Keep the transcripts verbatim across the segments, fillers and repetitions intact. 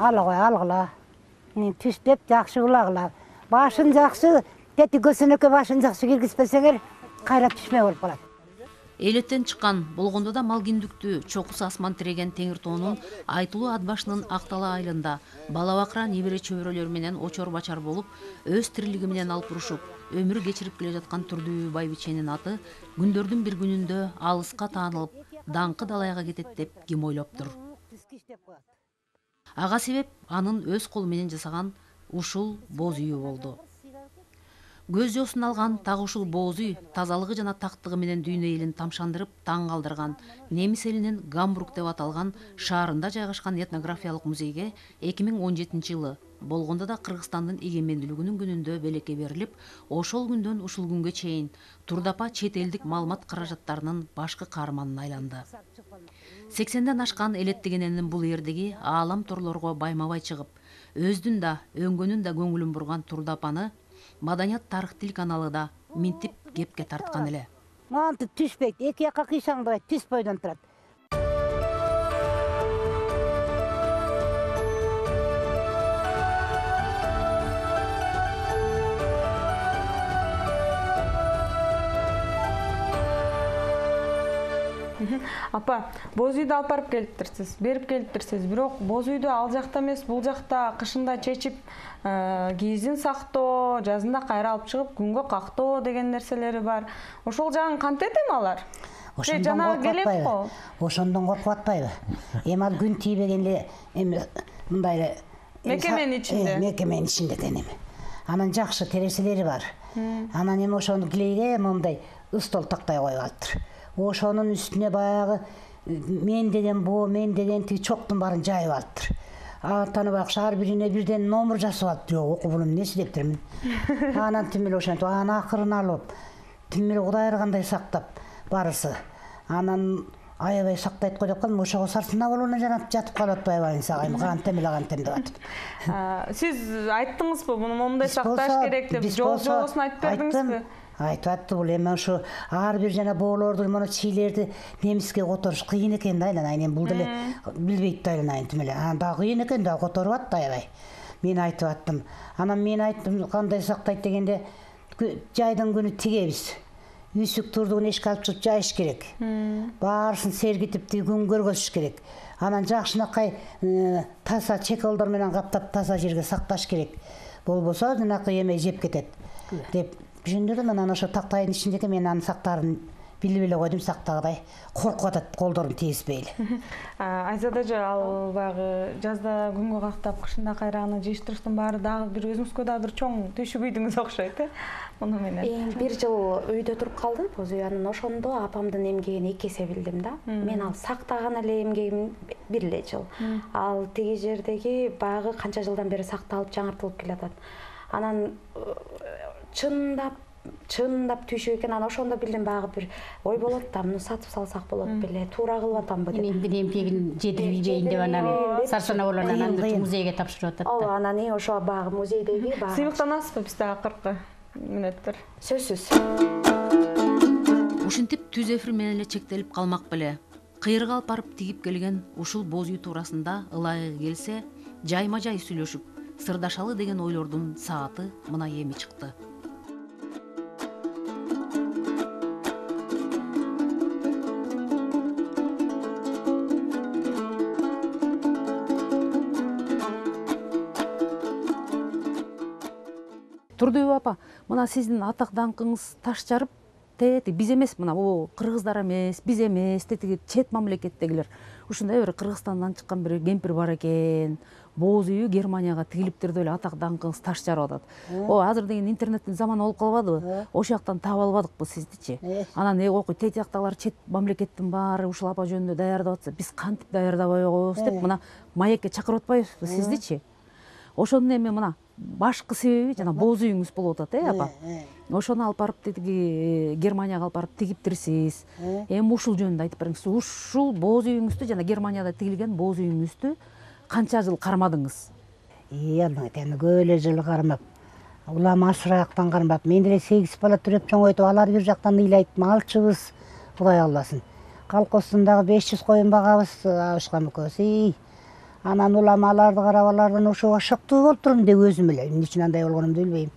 ала кой алгыла. Түштеп жакшы улагыла. Башын жакшы, тети көсөнөккө башын жакшы киргизбесеңер, кайра түшмө болуп калат. Элеттен чыккан болгондо да мал киндүктүү чокусу асман тиреген Теңир тоонун Айтылуу ат башынын Актала айылында бала бакыра небере чөбөрөлөр менен очор бачар болуп, өз тирилиги менен алып урушуп, өмүр кечирип келе жаткан Турдүбү байбиченин аты күндөрдүн бир күнүндө алыска таанылып, даңкы далайга кетет деп ким ойлоптур. Ага себеп анын өз колу менен жасаган ушул боз үйү болду. Көз жосун алган так ушул боз үй тазалыгы жана тактыгы менен дүйнө элин тамшандырып таң калтырган немис элинин Гамбург деп аталган шаарында жайгашкан этнографиялык музейге эки миң он жетинчи жылы болгондо да Кыргызстандын эгемендүүлүгүнүн күнүндө белекке берилип, ошол күндөн ушул күнгө чейин Турдапа чет элдик маалымат каражаттарынын башкы каарманына айланды. сексенден ашкан элеттеген эненин бул эрдиги аалам торлорго байма-бай чыгып, өздүн да өңгөнүн да көңүлүн бурган Турдапаны Маданият тарых тил каналы да минтип кепке тарткан эле. Мантип түшпөйт, эки жакка кыйшаңдабайт, түз бойдон турат. Апа, боз үйдү алып барып келиптирсиз, берип келиптирсиз. Бирок боз үйдү ал жакта эмес, бул жакта кышында чечип, кийизин сактоо, жазында кайра алып чыгып, күнгө кактоо деген нерселери бар. Ошол жагын кантет эми алар? Ошондон коркпатпайбы? Ошондон коркпатпайбы? Эми ал күн тийбеген эле эми мындай эле мекеменин ичинде. Мекеменин ичинде экен эми. Анан жакшы тереселери бар. Анан эми ошону килейге мындай ыстол тактай коюп алыптыр. Ошонун үстүнө баягы мен деген боо, мен деген тиги чоктун баарын жайып алыптыр. Артаны баягы ар бирине бирден номер жасап алыптыр. Жок, бул эмнеси дептирмин. Анан тим эле ошентип анан акырын алып, тим эле Кудай ыргандай сактап барысы. Анан аябай сактайт го деп калдым, ошого сарсына болуна жанап жатып калып атпайбы сагайм, кантем эле кантем деп атып. Сиз айттыңызбы, муну момундай сакташ керек деп, жол жобосун айтып бердиңизби? Айтып атты, бул эми ошо ар бир жана боолорду, мына чийлерди немиске которуш кыйын экен да, айланайын бул деле билбейт да айланайын тим эле. Анан дагы кыйын экен да, которуп атты аябай. Мен айтып аттым. Анан мен айттым, кандай сактайт дегенде, жайдын күнү тигебиз. Үсүк турдугун эшикке алып чыгып жайыш керек. Баарысын сергитип күн көргөзүш керек. Анан жакшынакай таза чеколдор менен каптап таза жерге сакташ керек. Болбосо жанакы эме жеп кетет деп түшүндүрдүм. Анан ошо тактайдын ичиндеги мен анын сактарын билип эле койдум, сактагыдай коркуп атат, колдорун тийиспейли. Айзада эже, ал баягы жазда күнгө кактап, кышында кайра аны жыйыштырыштын баары дагы бир өзүңүзгө дагы бир чоң түйшүк үйдүңүз окшойт, э? Муну менен. Бир жыл үйдө туруп калдым, боз үй. Анан ошондо апамдын эмгегин эки эсе билдим да. Мен ал сактаган эле эмгегим бир эле жыл. Ал тиги жердеги баягы канча жылдан бери сакталып, жаңыртылып келатат. Анан чындап чындап түйшүк экен. Анан ошондо билдим, баягы бир ой болот да, муну сатып салсак болот беле, туура кылып атамбы деп. Эми эмгегин жетирбейин деп анан сарсана болуп анан музейге тапшырып атат да. Ооба, анан и ошо баягы музейдеги баягы сыймыктанасызбы бизде акыркы мүнөттөр? Сөзсүз. Ушинтип түз эфир менен эле чектелип калмак беле. Кыйырга алып барып тигип келген ушул боз үй туурасында ылайыгы келсе, жайма-жай сүйлөшүп, сырдашалы деген ойлордун сааты мына эми чыкты. Турдүбү апа, мына сиздин атак даңкыңыз таш жарып, тети биз эмес, мына о кыргыздар эмес, биз эмес, тети чет мамлекеттегилер. Ушундай бир Кыргызстандан чыккан бир кемпир бар экен. Боз үйү Германияга тигилиптир деп эле атак даңкыңыз таш жарып атат. О, азыр деген интернеттин заманы болуп калбадыбы? Ошол жактан таап албадыкпы сиздичи? Анан э окуй, тети жактагылар чет мамлекеттин баары ушул апа жөнүндө даярдап атса, биз кантип даярдабай койбойбуз деп мына маекке чакырып атпайбызбы сиздичи? Ошонун эми мына башкы себеби жана боз үйүңүз болуп атат, э апа? Ошону алып барып тиги Германияга алып барып тигиптирсиз. Эми ушул жөнүндө айтып бериңиз. Ушул боз үйүңүздү жана Германияда тигилген боз үйүңүздү канча жыл кармадыңыз? Ий, албетте, көп эле жыл кармап. Улам асыраяктан кармап. Мен деле сегиз бала төрөп чоңойтуп, алар бир жактан ыйлайт, малчыбыз, Кудай алласын. Колхоздун дагы беш жүз коюн багабыз, Абышкам экөөбүз. Анан улам аларды карап алардан ошого шоктуу болуп турмун деп өзүм эле эмне үчүн андай болгонумду билбейм.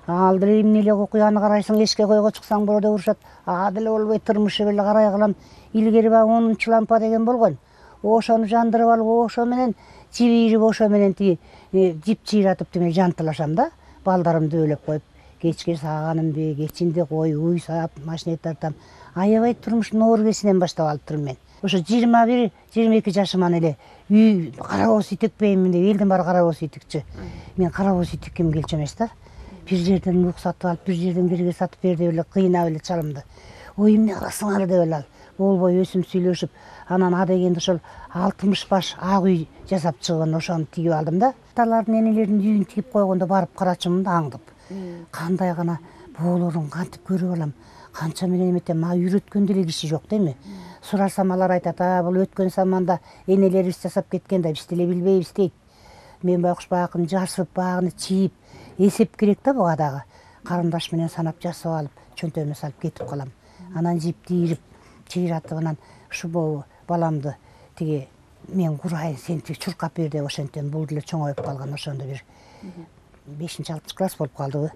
Ал деле эмне эле окуяны карайсың, эшикке койго чыксаң бороодо урушат. А деле болбой тырмышы беле карай кылам. Илгери баягы онунчу лампа деген болгон. Ошону жандырып алып, ошо менен жибирип, ошо менен тиги жип жыйратып тиме жантылашам да. Балдарымды өлөп коюп, кечке сааганымды, кечинде кой уй саап, машина тартам. Аябай турмуштун оор кесинен баштап алып турмун мен. Ошо жыйырма бир, жыйырма эки жашыман эле үй карабоз үй текпеймин деп элдин баары карабоз үй тикчү. Мен карабоз үй тикким келчү эмес да. Бир жерден мук сатып алып, бир жерден кирге сатып бер деп эле кыйнап эле чалымды. Ой эмне кыласыңар деп эле ал. Болбой өсүм сүйлөшүп, анан а дегенде ошол алтымыш баш ак үй жасап чыгып ошону тигип алдым да. Аталардын энелердин үйүн тигип койгондо барып карачумун да аңдып. Кандай гана боолорун кантип көрүп алам. Канча менен эметем, мага үйрөткөн деле киши жок дейми. Сурасам алар айтат, а бул өткөн заманда энелерибиз жасап кеткен да биз деле билбейбиз дейт. Мен байкуш багын жарсып, багыны чийип, эсеп керек да буга дагы. Карындаш менен санап жасап алып, чөнтөгүмө салып кетип калам. Анан жиптирип, чыйратып анан ушу баламды тиги мен курайын, сен тиги чуркап бер деп ошентем. Бул деле чоңоюп калган, ошондо бир бешинчи алтынчы класс болуп калдыбы.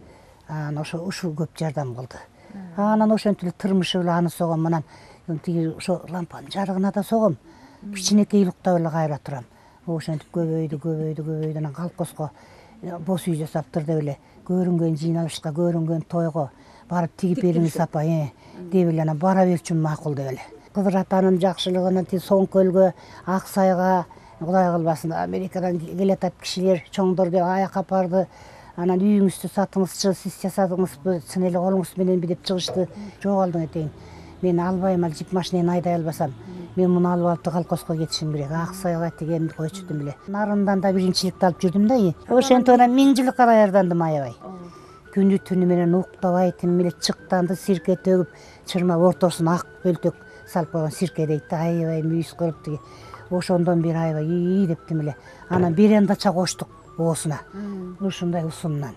Анан ошо ушул көп жардам кылды. Анан ошентип эле тырмышы эле аны согом, анан тиги ошо лампанын жарыгына да согом. Кичинекей уктап эле кайра турам. Ошентип көбөйдү, көбөйдү, көбөйдү. Анан колхозго боз үй жасаптыр деп эле көрүнгөн жыйналышка, көрүнгөн тойго барып тигип бериңиз апа, э деп эле анан бара берчүмүн макул деп эле. Кызыр атанын жакшылыгына тиги Соңкөлгө, Ак Сайга, Кудай кылбасын, Америкадан келатат кишилер, чоңдор деп аяк апарды. Анан үйүңүздү сатыңызчы, сиз жасадыңызбы, чын эле колуңуз мененби деп чыгышты. Жок алдың этейин. Мен албайм, ал жип машинени айдай албасам. Мен муну алып алып колхозго кетишим керек. Ак Сайга тигенди койчутум эле. Нарындан да биринчиликти алып жүрдүм да. Ошентип анан миң жылыкка даярдандым аябай. Күнү түнү менен уктабай тим эле чыктанды сирке төгүп, чырмап ортосуна ак бөлтөк салып койгон сирке дейт да, аябай мүйүз кылып тиги. Ошондон бери аябай ий деп тим эле. Анан берендача коштук оосуна. Ушундай усунунан.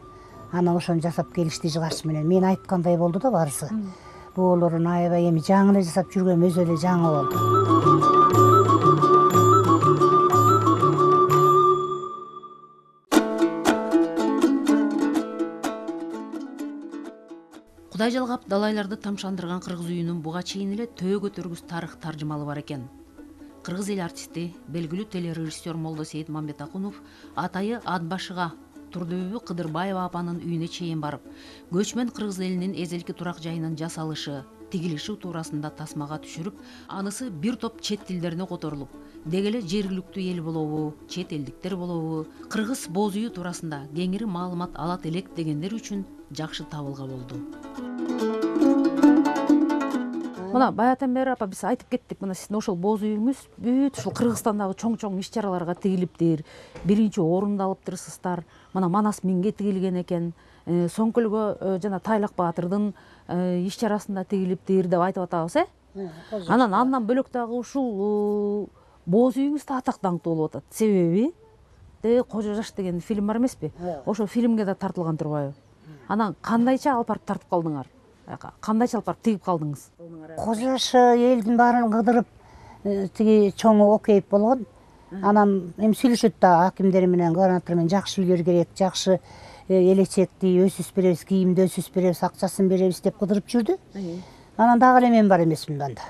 Анан ошону жасап келишти жыгач менен. Мен айткандай болду да барысы. Боолорун аябай эми жаңы эле жасап жүргөм, өзү эле жаңы болду. Кудай жалгап далайларды тамшандырган кыргыз үйүнүн буга чейин эле төө көтөргүс тарых таржымалы бар экен. Кыргыз эл артисти, белгилүү телережиссер Молдосейит Мамбетакунов атайы Атбашыга Турдүбү Кыдырбаева апанын үйүнө чейин барып, көчмөн кыргыз элинин эзелки турак жайынын жасалышы, тигилиши туурасында тасмага түшүрүп, анысы бир топ чет тилдерине которулуп, деги эле жергиликтүү эл болобу, чет элдиктер болобу, кыргыз боз үйү туурасында кеңири маалымат алат элек дегендер үчүн жакшы табылга болду. Мына баятан бери апа биз айтып кеттик, мына сиздин ошол боз үйүңүз бүт ушул Кыргызстандагы чоң-чоң иш чараларга тигилиптир, биринчи орунду алыптырсыздар. Мына Манас миңге тигилген экен, Соңкөлгө жана Тайлак Баатырдын иш чарасында тигилиптир деп айтып атабыз, э? Анан андан бөлөк дагы ушул боз үйүңүз да атак даңктуу болуп атат. Себеби Кожо жаш деген фильм бар эмеспи? Ошол фильмге да тартылган турбайбы? Анан кандайча алып барып тартып калдыңар? Кандайча алып барып тигип калдыңыз? Кожо жаш элдин баарын кыдырып тиги чоңу окейип болгон. Анан эми сүйлөшөт да акимдер менен, губернатор менен, жакшы үйлөр керек, жакшы элечекти өсүс беребиз, кийимди өсүс беребиз, акчасын беребиз деп кыдырып жүрдү. Анан дагы эле мен бар эмесмин анда.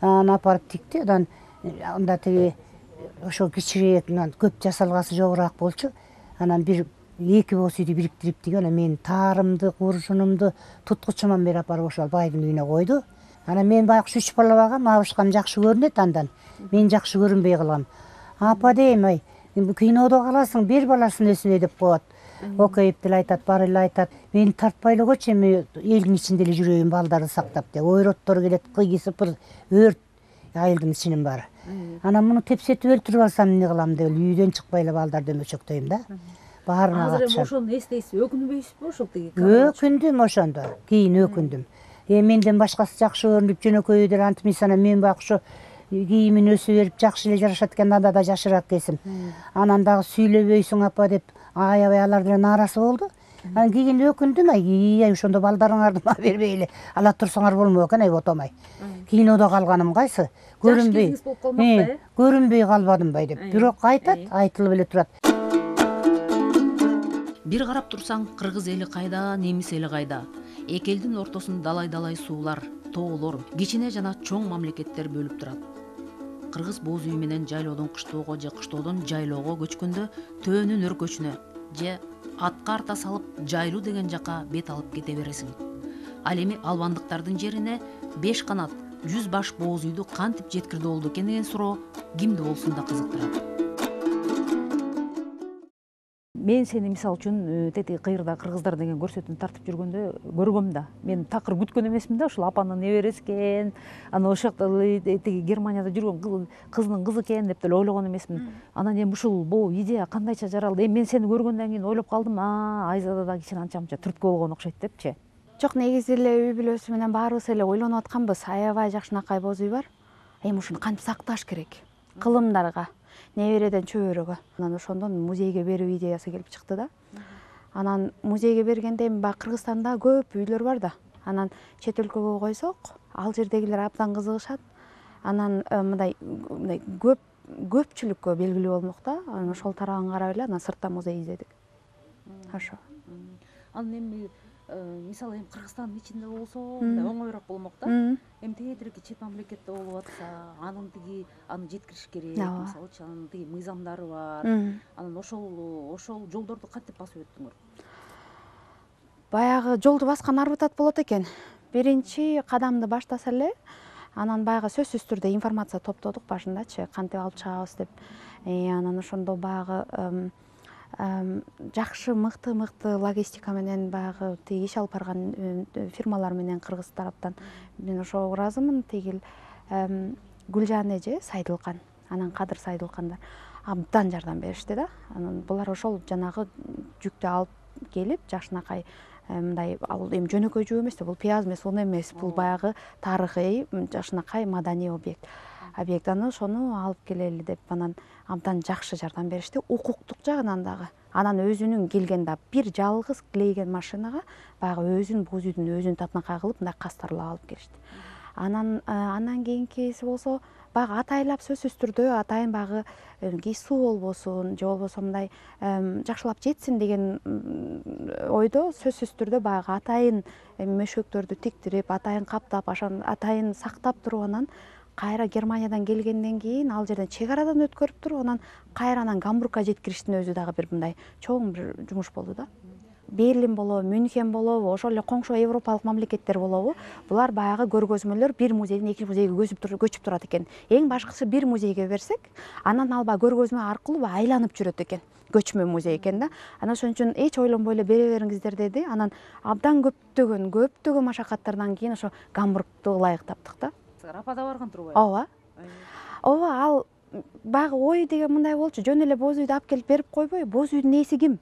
Анан апарып тикти. Анан анда тиги ошо кичирээк, көп жасалгасы жогураак болчу. Анан бир эки боз үйдү бириктирип тиги, анан мен таарымды, куржунумду туткучуман берип апарып ошол байдын үйүнө койду. Анан мен байкуш үч бала багам, абышкам жакшы көрүнөт андан. Мен жакшы көрүнбөй калгам. Апа дейм, ай, кинодо каласың, бир баласын өсүнө деп коет. Окейип деле айтат, бар эле айтат. Мени тартпай эле койчу, эми элдин ичинде эле жүрөйүн, балдарды сактап деп. Ойроттор келет, кыйгы сыпыр, өрт айылдын ичинин баары. Анан муну тепсетип өлтүрүп алсам эмне кылам деп үйдөн чыкпай эле балдарды өмөчөктөйм да. Баарына катышам. Азыр эми ошону эстейсиз, өкүнбөйсүзбү ошол тиги? Өкүндүм ошондо. Кийин өкүндүм. Эми менден башкасы жакшы көрүнүп жөнөкөй деле антимис, анан мен байкуш ошо кийимин өсүп берип жакшы эле жарашат экен, анда да жашыраак кесим. Анан дагы сүйлөбөйсүң апа деп аябай алар деле нааразы болду. Анан кийин өкүндүм, ай, ай ошондо балдарыңарды мага бербей эле ала турсаңар болмок экен, ай отомай. Кинодо калганым кайсы? Көрүнбөй. Көрүнбөй калбадым бай деп. Бирок айтат, айтылып эле турат. Бир карап турсаң, кыргыз эли кайда, немис эли кайда? Эки элдин ортосун далай-далай суулар, тоолор, кичине жана чоң мамлекеттер бөлүп турат. Кыргыз боз үй менен жайлоодон кыштоого же кыштоодон жайлоого көчкөндө төөнүн өркөчүнө же атка арта салып жайлуу деген жака бет алып кете бересиң. Ал эми албандыктардын жерине беш канат, жүз баш боз үйдү кантип жеткирди болду экен деген суроо кимди болсун да кызыктырат. Мен сени мисалы үчүн тетиги кыйырда кыргыздар деген көрсөтүүнү тартып жүргөндө көргөм да. Мен такыр күткөн эмесмин да, ушул апанын небереси экен, анан ошол жакта тиги Германияда жүргөн кызынын кызы экен деп деле ойлогон эмесмин. Анан эми ушул бул идея кандайча жаралды? Эми мен сени көргөндөн кийин ойлоп калдым, а Айзада да кичине анча-мынча түрткү болгон окшойт депчи. Жок, негизи эле үй бүлөсү менен баарыбыз эле ойлонуп атканбыз. Аябай жакшынакай боз үй бар. Эми ушуну кантип сакташ керек? Кылымдарга, небереден чөбөрөгө. Анан ошондон музейге берүү идеясы келип чыкты да. Анан музейге бергенде эми баягы Кыргызстанда көп үйлөр бар да. Анан чет өлкөгө койсок, ал жердегилер абдан кызыгышат. Анан мындай мындай көп көпчүлүккө белгилүү болмок да. Анан ошол тарабын карап эле анан сыртта музей издедик. Ошо. Анан эми мисалы эми Кыргызстандын ичинде болсо мындай оңоюраак болмок да. Эми тегерээки чет мамлекетте болуп атса, анын тиги аны жеткириш керек, мисалычы анын тиги мыйзамдары бар. Анан ошол ошол жолдорду кантип басып өттүңөр? Баягы жолду баскан арбытат болот экен. Биринчи кадамды баштаса эле, анан баягы сөзсүз түрдө информация топтодук башындачы, кантип алып чыгабыз деп. Анан ошондо баягы жакшы мыкты мыкты логистика менен баягы тиги иш алып барган фирмалар менен кыргыз тараптан мен ошого ыраазымын. Тигил Гүлжан эже Сайдылкан, анан Кадыр Сайдылкандар абдан жардам беришти да. Анан булар ошол жанагы жүктү алып келип жакшынакай мындай ал эми жөнөкөй жүк эмес да, бул пияз эмес, он эмес, бул баягы тарыхый жакшынакай маданий объект. Объектаны ошону алып келели деп анан абдан жакшы жардам беришти, укуктук жагынан дагы. Анан өзүнүн келген да бир жалгыз клейген машинага баягы өзүнүн боз үйдүн өзүнүн татынакай кылып мындай кастарлап алып келишти. Анан андан кийинкиси болсо баягы атайлап сөзсүз түрдө атайын баягы кийсүү болбосун же болбосо мындай жакшылап жетсин деген ойдо сөзсүз түрдө баягы атайын мөшөктөрдү тиктирип, атайын каптап, атайын сактап туруп анан кайра Германиядан келгенден кийин ал жерден чек арадан өткөрүп туруп анан кайра анан Гамбургка жеткириштин өзү дагы бир мындай чоң бир жумуш болду да. Берлин болобу, Мюнхен болобу, ошол эле коңшу европалык мамлекеттер болобу, булар баягы көргөзмөлөр бир музейден экинчи музейге көчүп турат экен. Эң башкысы бир музейге берсек, анан ал баягы көргөзмө аркылуу айланып жүрөт экен. Көчмө музей экен да. Анан ошон үчүн эч ойлонбой эле бере бериңиздер деди. Анан абдан көптөгөн, көптөгөн машакаттардан кийин ошо Гамбургду ылайык таптык да. Апада барган турбайбы? Ооба. Ооба, ал баягы ой деген мындай болчу, жөн эле боз үйдү алып келип берип койбой, боз үйдүн ээси ким?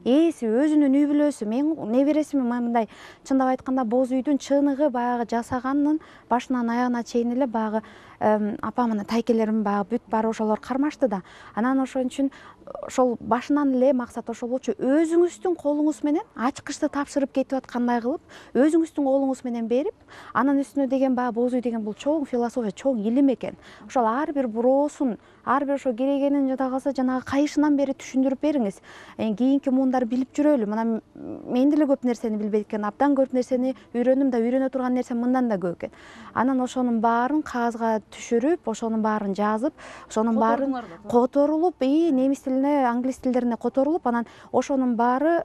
Ээси өзүнүн үй бүлөсү. Мен небересимин мындай чындап айтканда боз үйдүн чыныгы баягы жасаганын башынан аягына чейин эле баягы апамын, тайкелерим баягы бүт баары ошолор кармашты да. Анан ошон үчүн ошол башынан эле максат ошол болчу. Өзүңүздүн колуңуз менен ачкычты тапшырып кетип аткандай кылып, өзүңүздүн колуңуз менен берип, анан үстүнө деген баягы боз үй деген бул чоң философия, чоң илим экен. Ошол ар бир буроосун, ар бир ошо керегенин жада калса жанагы кайышынан бери түшүндүрүп бериңиз. Кийинки муундар билип жүрөлү. Мына мен деле көп нерсени билбейт экен, абдан көп нерсени үйрөнүм да, үйрөнө турган нерсе мындан да көп экен. Анан ошонун баарын кагазга түшүрүп, ошонун баарын жазып, ошонун баарын которулуп, и немис тилине, англис тилдерине которулуп, анан ошонун баары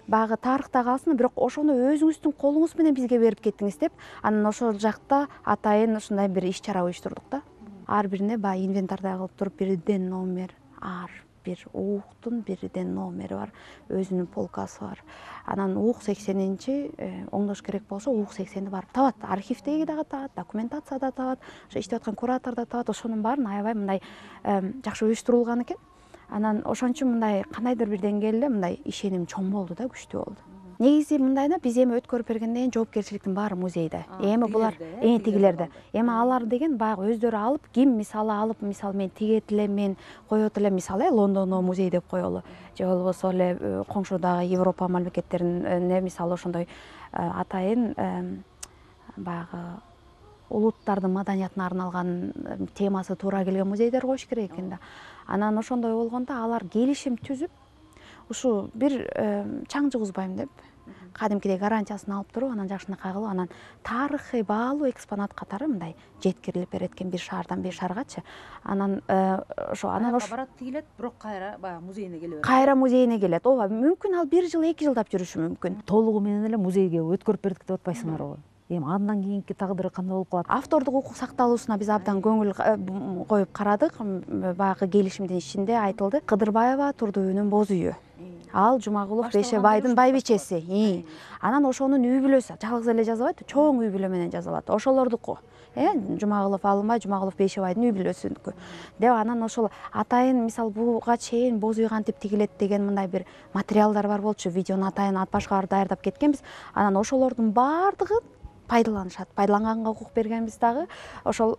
баягы тарыхта калсын, бирок ошону өзүңүздүн колуңуз менен бизге берип кеттиңиз деп, анан ошол жакта атайын ушундай бир иш-чара уюштурдук да. Ар бирине баягы инвентардай кылып туруп бирден номер, ар бир ууктун бирден номери бар, өзүнүн полкасы бар. Анан уук сексенинчи оңдош керек болсо, уук сексенди барып табат. Архивдеги дагы табат, документацияда табат, ошо иштеп аткан куратор да табат. Ошонун баарын аябай мындай жакшы уюштурулган экен. Анан ошон үчүн мындай кандайдыр бир деңгээлде мындай ишеним чоң болду да, күчтүү болду. негизи мындай да, биз эми өткөрүп бергенден кийин жоопкерчиликтин баары музейде. Эми булар эң тигилерде. Эми алар деген баягы өздөрү алып, ким мисалы алып, мисалы мен тигет элем, мен коет элем, мисалы Лондондо музей деп коелу. Же болбосо эле коңшудагы Европа мамлекеттерине мисалы ошондой атайын баягы улуттардын маданиятына арналган темасы туура келген музейдер коюш керек экен да. Анан ошондой болгондо алар келишим түзүп, ушу бир чаң жугузбайм деп кадимкидей гарантиясын алып туруп, анан жакшынакай кылып, анан тарыхый баалуу экспонат катары мындай жеткирилип берет экен бир шаардан бир шааргачы. Анан ошо анан ошо барат тигилет, бирок кайра баягы музейине келе берет. Кайра музейине келет. Ооба, мүмкүн ал бир жыл, эки жылдап жүрүшү мүмкүн. Толугу менен эле музейге өткөрүп бердик деп атпайсыңарбы? Эми андан кийинки тагдыры кандай болуп калат? Автордук укук сакталуусуна биз абдан көңүл коюп карадык. Баягы келишимдин ичинде айтылды. Кыдырбаева Турдубүйүнүн боз үйү. Ал Жумагулов Бешебайдын байбичеси. Анан ошонун үй бүлөсү жалгыз эле жазабайт, чоң үй бүлө менен жазалат. Ошолордуку. Э, Жумагулов Алынбай, Жумагулов Бешебайдын үй бүлөсүнүкү. Деп анан ошол атайын мисал буга чейин боз үй кантип тигилет деген мындай бир материалдар бар болчу. Видеону атайын ат башка даярдап кеткенбиз. Анан ошолордун баардыгын пайдаланышат. Пайдаланганга укук бергенбиз дагы. Ошол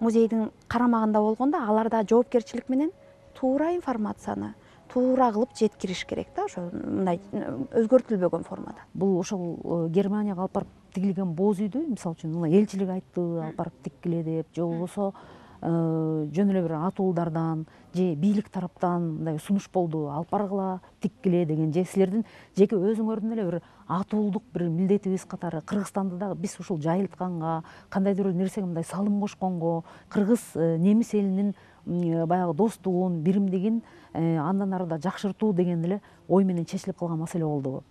музейдин карамагында болгондо алар да жоопкерчилик менен туура информацияны туура кылып жеткириш керек да, ошо мындай өзгөртүлбөгөн формада. Бул ошол Германияга алып барып тигилген боз үйдү, мисалы үчүн, мына элчилик айтты, алып барып тиккиле деп, же болбосо жөн эле бир атуулдардан же бийлик тараптан мындай сунуш болду, алып баргыла, тиккиле деген, же силердин жеке өзүңөрдүн эле бир атуулдук бир милдетибиз катары Кыргызстанды дагы биз ушул жайылтканга, кандайдыр бир нерсеге мындай салым кошконго, кыргыз немис элинин баягы достугун, биримдигин андан ары да жакшыртуу деген эле ой менен чечилип калган маселе болдубу?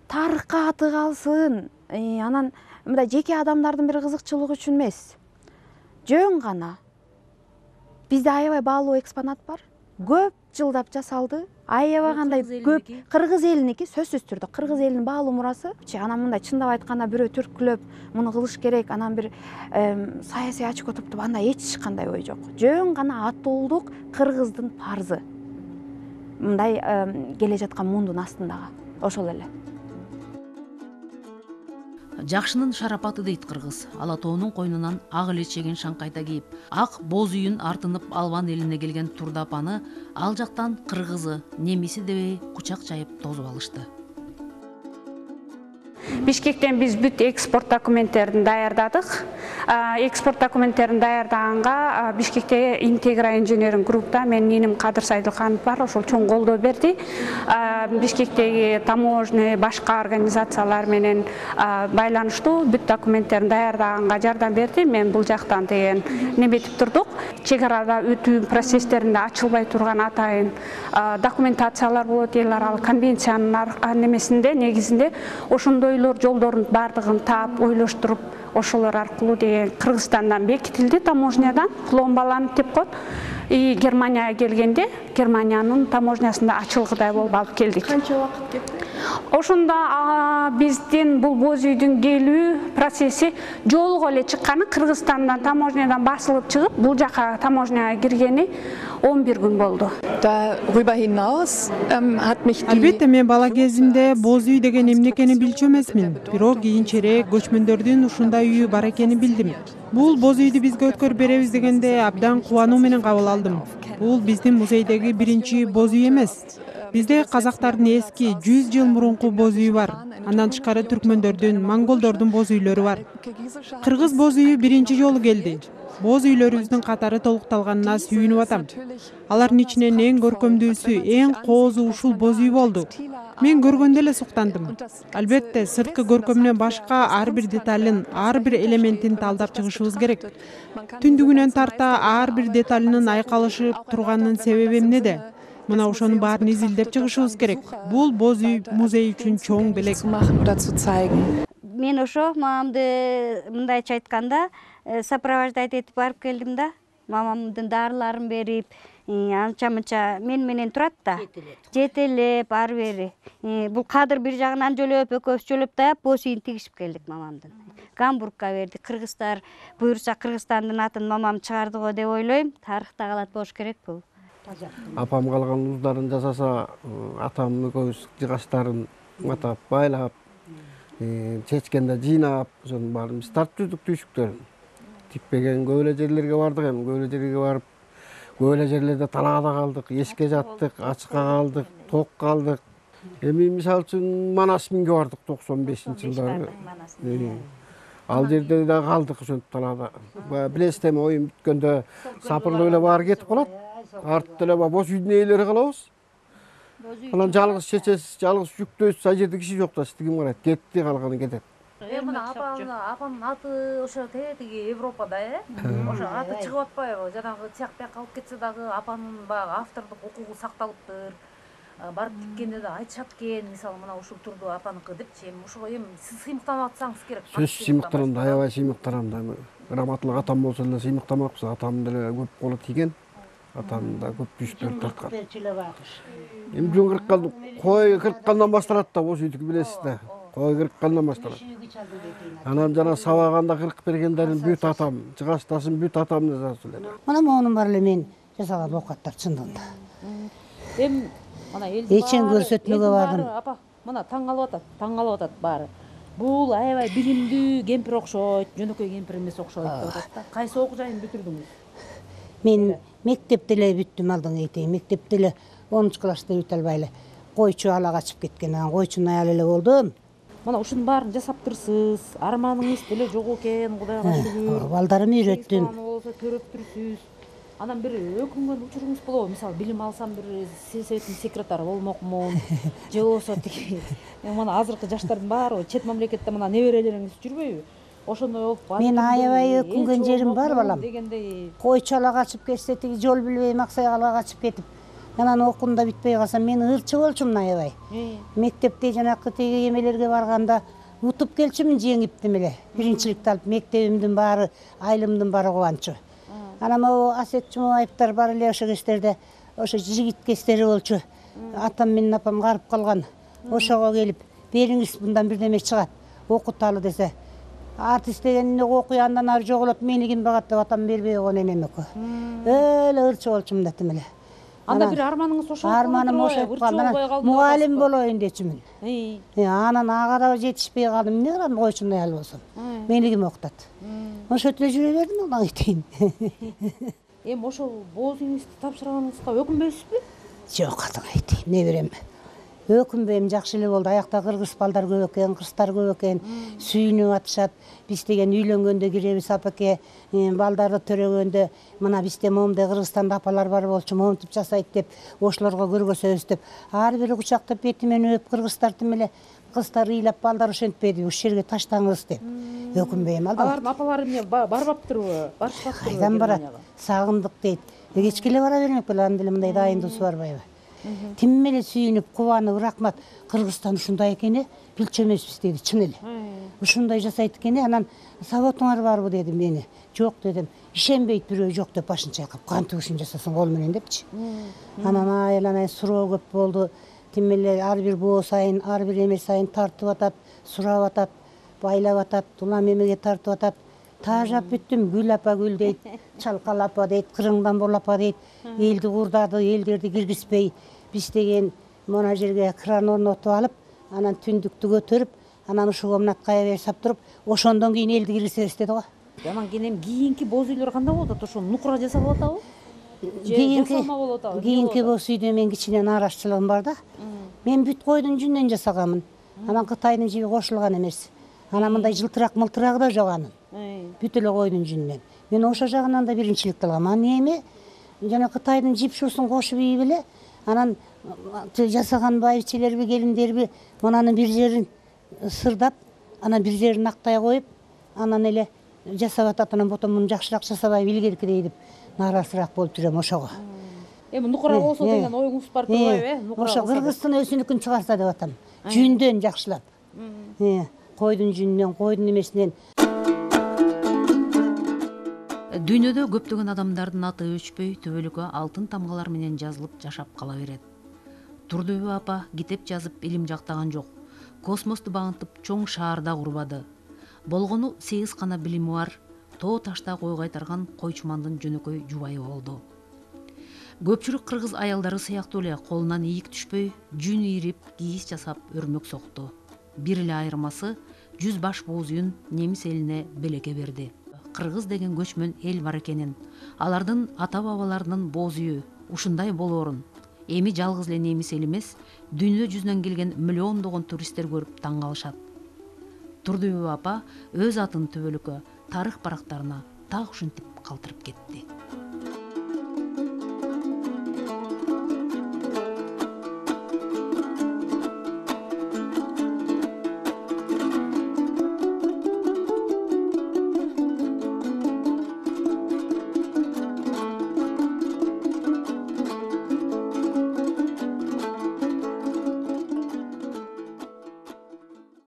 Тарыхка аты калсын. Анан мындай жеке адамдардын бир кызыкчылыгы үчүн эмес. Жөн гана бизде аябай баалуу экспонат бар. Көп жылдап жасалды. Аябай кандай көп кыргыз элиники, сөзсүз түрдө кыргыз элинин баалуу мурасы. Анан мындай чындап айтканда бирөө түрткүлөп, муну кылыш керек, анан бир саясий ачко топтоп андай эч кандай ой жок. Жөн гана атуулдук кыргыздын парзы. Мындай келе жаткан мундун астындагы. Ошол эле. Жакшынын шарапаты дейт кыргыз. Ала тоонун койнунан ак эле чеген шаңкайта кийип, ак боз үйүн артынып Албан элине келген Турда апаны ал жактан кыргызы, немиси дебей кучак жайып тосуп алышты. Бишкектен биз бүт экспорт документтерин даярдадык. Экспорт документтерин даярдаганга Бишкекте Интегра инженеринг группта менин иним Кадыр Сайдылханов бар, ошол чоң колдоо берди. Бишкектеги таможня, башка организациялар менен байланыштуу, бүт документтерин даярдаганга жардам берди. Мен бул жактан деген неметип турдук. Чек арада өтүү процесстеринде ачылбай турган атайын документациялар болот, эл аралык конвенциянын немесинде, негизинде ошондойлор жолдордун баардыгын таап, ойлоштуруп, ошолор аркылуу деген Кыргызстандан бекитилди, таможнядан пломбаланып деп коет. И Германияга келгенде Германиянын таможнясында ачылгыдай болуп алып келдик. Канча убакыт кетти? Ошондо биздин бул боз үйдүн келүү процесси жолго эле чыкканы, Кыргызстандан таможнядан басылып чыгып, бул жака таможняга киргени он бир күн болду. Darüber hinaus hat mich Албетте мен бала кезимде боз үй деген эмне экенин билчү эмесмин. Бирок кийинчерээк көчмөндөрдүн ушундай үйү бар экенин билдим. Бул боз үйдү бизге өткөрүп беребиз дегенде абдан кубануу менен кабыл алдым. Бул биздин музейдеги биринчи боз үй эмес. Бизде казактардын эски жүз жыл мурунку боз үйү бар. Андан тышкары түркмөндөрдүн, монголдордун боз үйлөрү бар. Кыргыз боз үйү биринчи жолу келди. Боз үйлөрүбүздүн катары толукталганына сүйүнүп атам. Алардын ичинен эң көркөмдүүсү, эң коозу ушул боз үй болду. Мен көргөндө эле суктандым. Албетте, сырткы көркөмүнөн башка ар бир деталын, ар бир элементин талдап чыгышыбыз керек. Түндүгүнөн тарта ар бир деталынын айкалышып турганынын себеби эмнеде? Мына ошонун баарын изилдеп чыгышыбыз керек. Бул боз үй музей үчүн чоң белек. Мен ошо мамамды мындайча айтканда сопровождать этип барып келдим да. Мамамдын дарыларын берип, анча мынча мен менен турат да. Жетелеп, ары бери. Бул Кадыр бир жагынан жөлөп, экөөбүз жөлөп даяп, боз үйүн тигишип келдик мамамдын. Гамбургка берди. Кыргыздар буйрса Кыргызстандын атын мамам чыгарды го деп ойлойм. Тарыхта калат болуш керек бул. Апам калган уздарын жасаса, атам экөөбүз жыгачтарын атап байлап, чечкенде жыйнап, ошонун баарын биз тартып жүрдүк түйшүктөрүн. Тикпеген көп эле жерлерге бардык, эми көп эле жерге барып, көп эле жерлерде талаада калдык, эшикке жаттык, ачыкка калдык, ток калдык. Эми мисалы үчүн Манас минге бардык токсон бешинчи жылдары. Ал жерде да калдык ошентип талаада. Билесиз эми оюн бүткөндө сапырлап эле баары кетип калат. Артта эле боз үйдүн ээлери калабыз. Анан жалгыз чечесиз, жалгыз жүктөйсүз, ал жерде киши жок да сизди ким карайт? Кетти, калганы кетет. Э мына апамдын апамдын аты ошо тетиги Европада э. Ошо аты чыгып атпайбы? Жанагы тияк бияка алып кетсе дагы апанын баягы автордук укугу сакталыптыр. Барып тиккенде да айтышат экен, мисалы мына ушул турду апаныкы депчи. Эми ошого эми сиз сыймыктанып атсаңыз керек. Сөз сыймыктанам да, аябай сыймыктанам да. Грамоталык атам болсо эле сыймыктамакпыз. Атам деле көп колу тийген. Атам да көп күйүштөр тарткан. Эми жөн кырккан, кой кырккандан башталат да, боз үйдүкү билесиз да. Кой кырккандан башталат. Анан жана сабаганда кыркып бергендерин бүт атам, жыгачтасын бүт атам жазат эле. Мына монун бар эле мен жасаган оокаттар чындыгында. Эми мына элдин эчен көрсөтмөгө бардым. Апа, мына таң калып атат, таң калып атат баары. Бул аябай билимдүү кемпир окшойт, жөнөкөй кемпир эмес окшойт деп атат да. Кайсы окуу жайын бүтүрдүңүз? Мен мектепте эле бүттүм, алдыңы айтайын. Мектепте эле онунчу класста бүтө албай эле койчу ала качып кеткен. Анан койчунун аялы эле болдум. Мына ушунун баарын жасаптырсыз. Арманыңыз деле жок экен, Кудайга шүгүр. Балдарымды үйрөттүм. Болсо көрөптүрсүз. Анан бир өкүнгөн учуруңуз болобу? Мисалы билим алсам бир сельсоветтин секретары болмокмун. Же болбосо тиги мына азыркы жаштардын баары чет мамлекетте мына неберелериңиз жүрбөйбү? Ошондой болуп мен аябай өкүнгөн жерим бар балам. Дегендей. Койчу ала качып кетсе, тиги жол билбей Максайга качып кетип, анан окуум да бүтпөй калсам, мен ырчы болчумун аябай. Мектепте жанакы тиги эмелерге барганда утуп келчүмүн жеңиптим эле. Биринчиликти алып, мектебимдин баары, айылымдын баары кубанчу. Анан могу Асет Жумабаевдер бар эле ошо кездерде, ошо жигит кездери болчу. Атам менен апам карып калган. Ошого келип, бериңиз мындан бирдеме чыгат, окуталы десе. Артист деген окуй андан ары жоголот, мени ким багат деп атам бербей койгон энем экөө. Эле ырчы болчумун датым эле. Анда бир арманыңыз ошо болуп арманым ошо калды. Мугалим болоюн дечүмүн. Анан ага да жетишпей калдым. Эмне кылам, койчунун аялы болсом. Мени ким окутат? Ошентип эле жүрө бердим, Аллага айтайын. Эми ошол боз үйүңүздү тапшырганыңызга өкүнбөйсүзбү? Жок, Аллага айтайын. Не берем? Өкүнбөйм, жакшы эле болду. Аякта кыргыз балдар көп экен, кыздар көп экен. Сүйүнүп атышат. Биз деген үйлөнгөндө киребиз, апаке, балдарды төрөгөндө, мына бизде момундай Кыргызстанда апалар бар болчу, момунтип жасайт деп, ошолорго көргөзөбүз деп. Ар бири кучактап бетимен өп, кыргыздардын эле кыздар ыйлап, балдар ошентпеди, ушул жерге таштаңыз деп. Өкүнбөйм, алда. Алардын апалары эмне барбаптырбы? Барышпаптырбы? Кайдан барат? Сагындык дейт. Кечке эле бара бермек беле, анда эле мындай дайындуусу барбайбы? Тим эле сүйүнүп, кубанып, рахмат. Кыргызстан ушундай экен, билчү эмеспиз деди, чын эле. Ушундай жасайт экен, анан сабатыңар барбы деди мени. Жок дедим. Ишенбейт бирөө жок деп башын чайкап, кантип ушун жасасаң кол менен депчи. Анан айланай суроо көп болду. Тим эле ар бир боо сайын, ар бир эме сайын тартып атат, сурап атат, байлап атат, улам эмеге тартып атат. Таажап бүттүм. Гүл апа гүл дейт, Чалкал апа дейт, Кырыңдан бол апа дейт. Элди курдады, элдерди киргизбей, биз деген мына жерге кран орнотуп алып, анан түндүктү көтөрүп, анан ушуга мына кая берип сап туруп, ошондон кийин элди киргизебиз деди го. Анан кийин кийинки боз үйлөр кандай болуп атат? Ошо нукура жасалып атабы? Кийинки кийинки боз үйдө мен кичине нааразычылыгым бар да. Мен бүт койдун жүнүнөн жасаганмын. Анан Кытайдын жиби кошулган эмес. Анан мындай жылтырак мылтырагы да жок анын. Бүт эле койдун жүнүнөн. Мен ошо жагынан да биринчиликти алгам. Анан эми жана Кытайдын жипшусун кошуп ийип эле, анан жасаган байбичелерби, келиндерби мынанын бир жерин сырдап, анан бир жерин актай коюп, анан эле жасап атат. Анан потом муну жакшыраак жасабай илгеркидей деп нааразыраак болуп жүрөм ошого. Эми нукура болсо деген оюңуз бар турбайбы, э? Ошо Кыргыздын өзүнүкүн чыгарса деп атам. Жүндөн жакшылап. Койдун жүнүнөн, койдун эмесинен. Дүйнөдө көптөгөн адамдардын аты өчпөй, төбөлүккө алтын тамгалар менен жазылып жашап кала берет. Турдүбү апа китеп жазып илим жактаган жок. Космосту багынтып чоң шаарда курбады. Болгону сегиз гана билими бар, тоо ташта кой кайтарган койчумандын жөнөкөй жубайы болду. Көпчүлүк кыргыз аялдары сыяктуу эле колунан ийик түшпөй, жүн ийрип, кийиз жасап өрмөк сокту. Бир эле айырмасы жүз баш боз үйүн немис элине белекке берди. Кыргыз деген көчмөн эл бар экенин, алардын ата бабаларынын боз үйү ушундай болоорун эми жалгыз эле немис эл эмес, дүйнө жүзүнөн келген миллиондогон туристтер көрүп таң калышат. Турдубева апа өз атын түбөлүккө тарых барактарына так ушинтип калтырып кетти.